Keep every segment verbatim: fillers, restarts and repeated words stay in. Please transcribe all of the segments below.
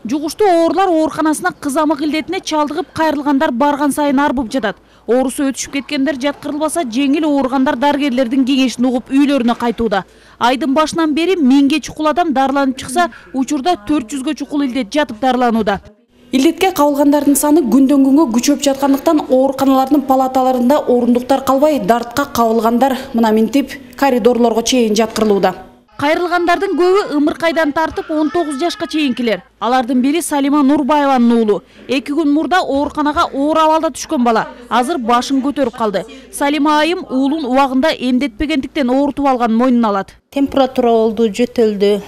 Жугуштуу оорлар ооруканасына кызамык илдетине чалдыгып кайрылгандар барган сайын арбып жатат. Оорусу өтүшүп кеткендер жаткырылбаса, жеңил ооругандар дарыгерлердин кеңешин угуп үйлөрүнө кайтууда. Айдын башынан бери миңге чукул адам дарыланып чыкса, учурда төрт жүзгө чукул илдет жатып дарыланууда. Илдетке кабылгандардын саны күндөн күнгө күчөп жаткандыктан ооруканалардын палаталарында орундуктар калбай, дартка кабылгандар мына минтип коридорлорго чейин жаткырылууда. Кайрылгандардын көбү ымыркайдан тартып он тогуз жашка чейинкилер. Алардын бири Салима Нурбаеванын уулу. эки күн мурда ооруканага оор абалда түшкөн бала. Азыр башын көтөрүп калды. Салима айым уулун убагында эмдетпегендиктен оорутуп алганын мойнуна алат. Температура болду, жөтөлдү.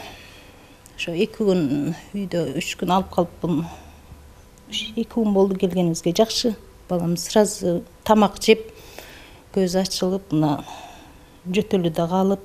Ошо эки күн үйдө, үч күн алып калыппын. эки күн болду келгенибизге, жакшы. Балам сразу тамак жеп, көз ачылып, мына жөтөлү да калып.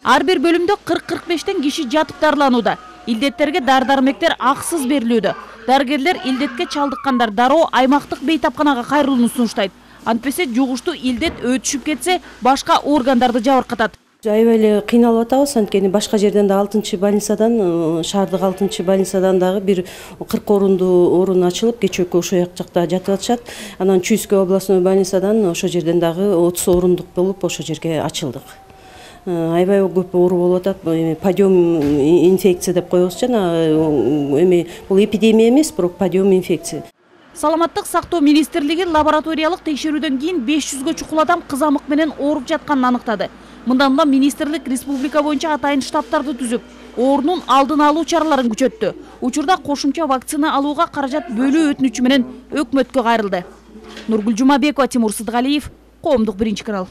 Ар бир бөлүмдө кырк кырк бештен киши жатып дарыланууда. Илдеттерге дары-дармектер аксыз берилүүдө. Дарыгерлер илдетке чалдыккандар дароо аймактык бейтапканага кайрылууну сунуштайт. Антпесе жугуштуу илдет өтүшүп кетсе, башка органдарды жабыркатат. Аябай эле кыйналып атабыз, анткени башка жерден да алтынчы больницадан, шаардык алтынчы больницадан дагы бир кырк орунду орун ачылып, кечөөккө ошо жакта жатып атышат. Анан Чуйская областной больницадан ошо жерден дагы отуз орундук болуп ошо жерге ачылдык. Аябай көп оору болуп атат. Подъем инфекция деп коебуз жана эми бул эпидемия эмес, бирок подъем инфекция. Саламаттык сактоо министрлиги лабораториялык текшерүүдөн кийин беш жүзгө чукул адам кызамык менен ооруп жатканын аныктады. Мындан улам министрлик республика боюнча атайын штабтарды түзүп, оорунун алдын алуу чараларын күчөттү. Учурда кошумча вакцина алууга каражат бөлүү өтүнүчү менен өкмөткө кайрылды. Нургүл Жумабекова, Тимур Сыдгалиев, Коомдук биринчи канал.